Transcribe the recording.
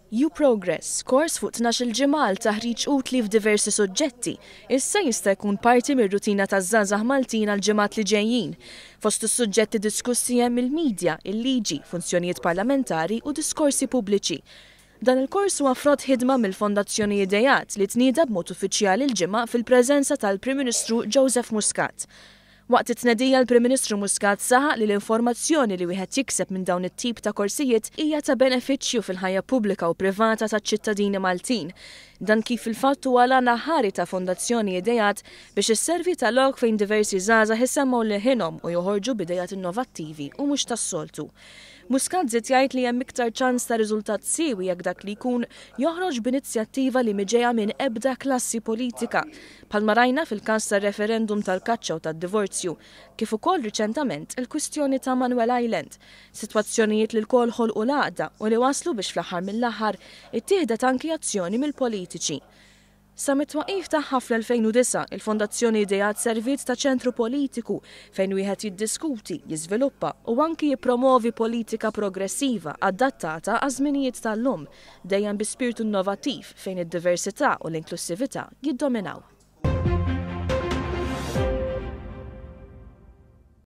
U-Progress, kors fuq 12-il ġimgħa għal taħriġ utli f'diversi suġġetti, issa jista' jkun parti mir-rutina taż-żgħażagħ Maltin għall-ġimgħat li ġejjin. Fost is-suġġetti diskussi hemm il-media, il-liġi, funzjonijiet parlamentari u diskorsi pubbliċi. Dan il-kors huwa frott ħidma mill-Fondazzjoni Ideat li tnieda b'mod uffiċjali l-Ġimgħa fil-preżenza tal-Prim Ministru Joseph Muscat. Waqt it-tnedija l-Prim Ministru Muscat saħaq li l-informazzjoni li wieħed jikseb minn dawn it-tip ta' korsijiet hija ta' benefiċċju fil-ħajja pubblika u privata taċ-ċittadini Maltin. Dan kif fil-fatt huwa l-għan aħħari ta' Fondazzjoni Ideat biex isservi ta' lok fejn diversi żgħażagħ isemmgħu leħinhom u joħorġu b'ideat innovattivi u mhux tas-soltu. Muscat żied jgħid li hemm iktar ċans ta' riżultat siewi jekk dak li jkun joħroġ b'inizjattiva li mhi ġejja minn ebda klassi politika, bħalma rajna fil-każ tar-referendum tal-kaċċa u tad-divorzju, kif ukoll riċentament il-kwistjoni ta' Manuel Island, sitwazzjonijiet li lkoll ħolqu l-għaqda u li wasslu biex fl-aħħar mill-aħħar ittieħdet anki azzjoni mill-politiċi. Sa mit-twaqqif tagħha fl-2009, il-Fondazzjoni Ideat serviet ta' ċentru politiku fejn wieħed jiddiskuti, jiżviluppa u anki jippromovi politika progressiva adattata għaż-żminijiet tal-lum, dejjem bi spirtu innovattiv fejn id-diversità u l-inklussività jiddominaw.